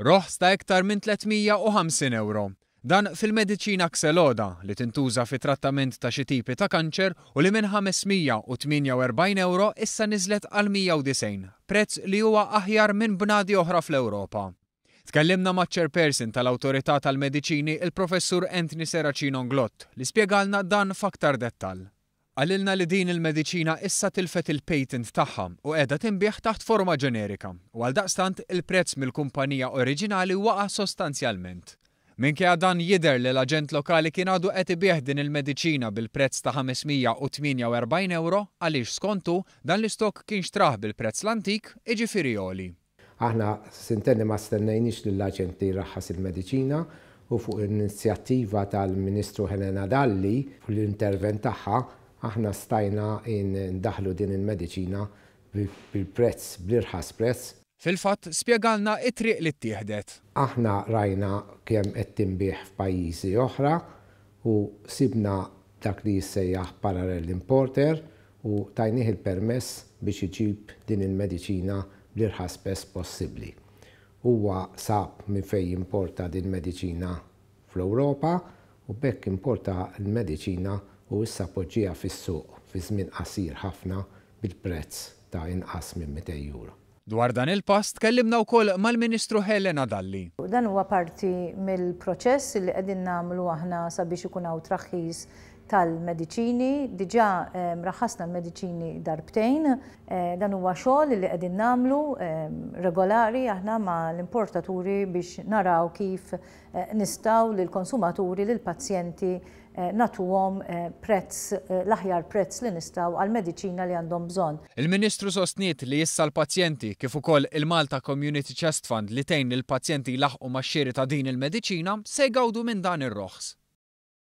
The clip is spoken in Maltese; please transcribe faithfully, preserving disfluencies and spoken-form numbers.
Roħs ta' iktar minn tliet mija u ħamsin ewro. Dan fil-mediċina Xeloda li tintuża fi trattament ta' xi tipi ta' kanċer u li minn ħames mija u tmienja u erbgħin ewro issa niżlet għal mija u disgħin, prezz li huwa aħjar minn bnadi oħra fl-Ewropa. Tkellimna ma' chairperson tal-Awtorità tal-Mediċini, il-Professur Anthony Serracino Inglott, li spjegalna dan f'aktar dettall. Qalilna li din il-mediċina issa tilfet il-patent tagħha u qiegħda tinbiegħ taħt forma ġenerika u għaldaqstant il-prezz mill-kumpanija oriġinali waqa' sostanzjalment. Minkejja dan jidher li l-aġent lokali kien għadu qed ibigħ din il-mediċina bil-prezz ta' ħames mija u tmienja u erbgħin ewro għaliex skontu dan l-istok kien xtrah bil-prezz l-antik, jiġifieri għoli. Aħna sintenni ma stennejniex lill-aġent li jraħħas il-mediċina u fuq l-inizjattiva tal-Ministru Helena Dalli u l-intervent tagħha aħna stajna ndaħlu din il-mediċina bil-prezz, bl-irħas prezz. Fil-fatt, spjegalna it-triq li ttieħdet. Aħna rajna kemm qed tinbiegħ f'pajjiżi oħra u sibna dak li jissejjaħ parallel importer u tajnieh il-permess biex iġib din il-mediċina bl-irħas prezz possibbli. Huwa sab minn fejn jimporta din mediċina fl-Ewropa u b'hekk importa l-mediċina u issa poġġiha fis-suq fi żmien qasir ħafna bil-prezz ta' inqas minn mitejn euro. Dwar dan il-pass tkellimna wkoll mal-Ministru Helena Dalli. Dan huwa parti mill-proċess li qegħdin nagħmlu aħna sabiex ikun hawn traħħis tal-mediċini. Diġà, ehm, raħasna l-mediċini darbtejn. Eh, dan huwa xogħol li qegħdin nagħmlu, ehm, regolari aħna ma' l-importaturi biex naraw kif, eh, nistgħu lill-konsumaturi, lill-pazjenti, eh, nagħtuhom, eh, prezz, eh, l-aħjar prezz li nistgħu għall-mediċina li għandhom bżonn. Il-Ministru sostniet li issa l-pazjenti kif ukoll il-Malta Community Chest Fund li tgħin lill-pazjenti jlaħqu max-xiri ta' din il-mediċina se jgawdu minn dan ir-roħs.